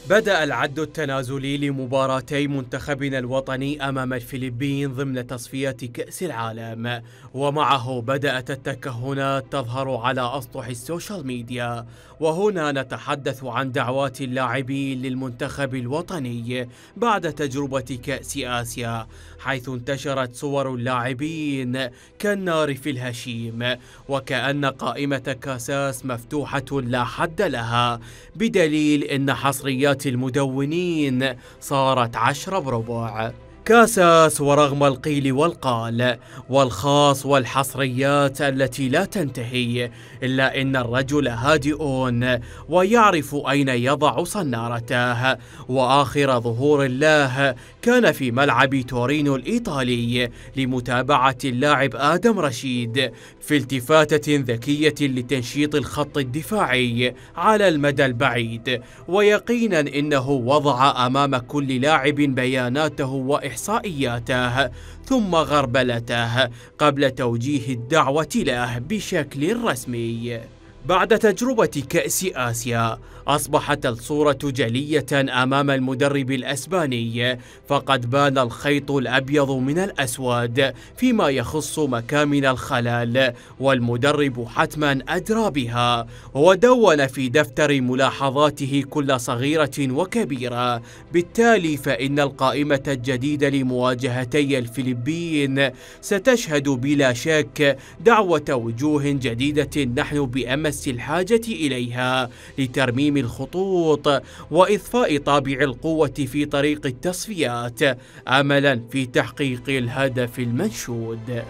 بدأ العد التنازلي لمباراتي منتخبنا الوطني أمام الفلبين ضمن تصفيات كأس العالم، ومعه بدأت التكهنات تظهر على أسطح السوشيال ميديا. وهنا نتحدث عن دعوات اللاعبين للمنتخب الوطني بعد تجربة كأس آسيا، حيث انتشرت صور اللاعبين كالنار في الهشيم، وكأن قائمة كاساس مفتوحة لا حد لها، بدليل أن حصريات المدونين صارت 10 بربع. كاساس ورغم القيل والقال والخاص والحصريات التي لا تنتهي، إلا أن الرجل هادئ ويعرف أين يضع صنارته. وآخر ظهور له كان في ملعب تورينو الإيطالي لمتابعة اللاعب آدم رشيد في التفاتة ذكية لتنشيط الخط الدفاعي على المدى البعيد، ويقينا إنه وضع أمام كل لاعب بياناته وإحصائياته ثم غربلته قبل توجيه الدعوة له بشكل رسمي. بعد تجربة كأس آسيا أصبحت الصورة جلية أمام المدرب الأسباني، فقد بان الخيط الأبيض من الأسود فيما يخص مكامن الخلل، والمدرب حتما أدرى بها، ودون في دفتر ملاحظاته كل صغيرة وكبيرة. بالتالي فإن القائمة الجديدة لمواجهتي الفلبين ستشهد بلا شك دعوة وجوه جديدة نحن بأمس الحاجة إليها لترميم الخطوط وإضفاء طابع القوة في طريق التصفيات، أملا في تحقيق الهدف المنشود.